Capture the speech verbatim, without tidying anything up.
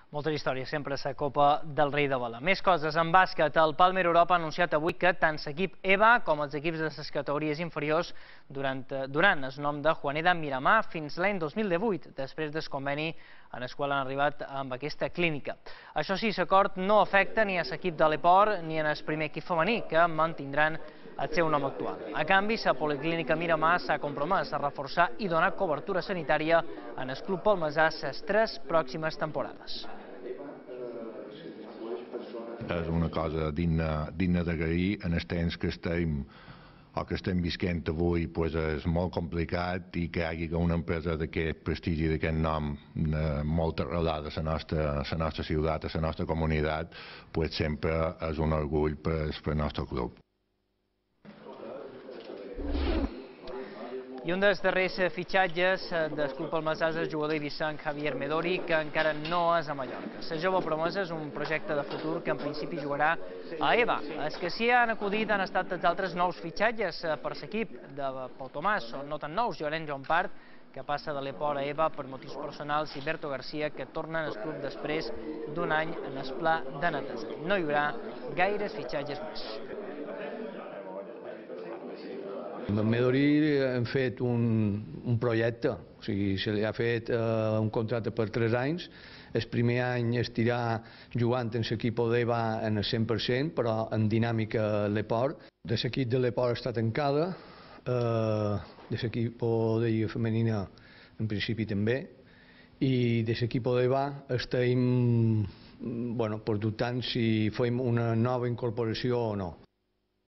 Moltes històries sempre a la Copa del Rei de Vela. Més coses. En bàsquet, el Palmer Europa ha anunciat avui que tant l'equip EVA com els equips de les categories inferiors durant, durant el nom de Juaneda Miramar fins l'any dos mil divuit, després del conveni en el qual han arribat amb aquesta clínica. Això sí, l'acord no afecta ni a l'equip de l'Eport ni en el primer equip femení, que mantindran el seu nom actual. A canvi, la Policlínica Miramar s'ha compromès a reforçar i donar cobertura sanitària en el club palmesà les tres pròximes temporades. És una cosa digna, digna d'agrair en els temps que estem o que estem visquent avui. Pues és molt complicat i que hi hagi una empresa d'aquest prestigi i d'aquest nom molt arrelada a la nostra, la nostra ciutat, a la nostra comunitat, pues sempre és un orgull per al nostre club. I un dels darrers fitxatges del club palmesà és el jugador ibicenc Javier Medori, que encara no és a Mallorca. La jove promesa és un projecte de futur que en principi jugarà a EVA. Els que s'hi han acudit han estat els altres nous fitxatges per l'equip de Pau Tomàs, són no tan nous, Llorenç Jompart, que passa de l'Eport a EVA per motius personals, i Berto García, que torna al club després d'un any en el pla de neteja. No hi haurà gaires fitxatges més. Amb Medori hem fet un, un projecte, o sigui, se li ha fet uh, un contracte per tres anys. El primer any estirà jugant en l'equip d'EVA en el cent per cent, però en dinàmica a l'Eport. De l'equip de l'Eport està tancada, uh, de l'equip de Lliga Femenina en principi també, i de l'equip d'EVA estem bueno, dubtant si fem una nova incorporació o no.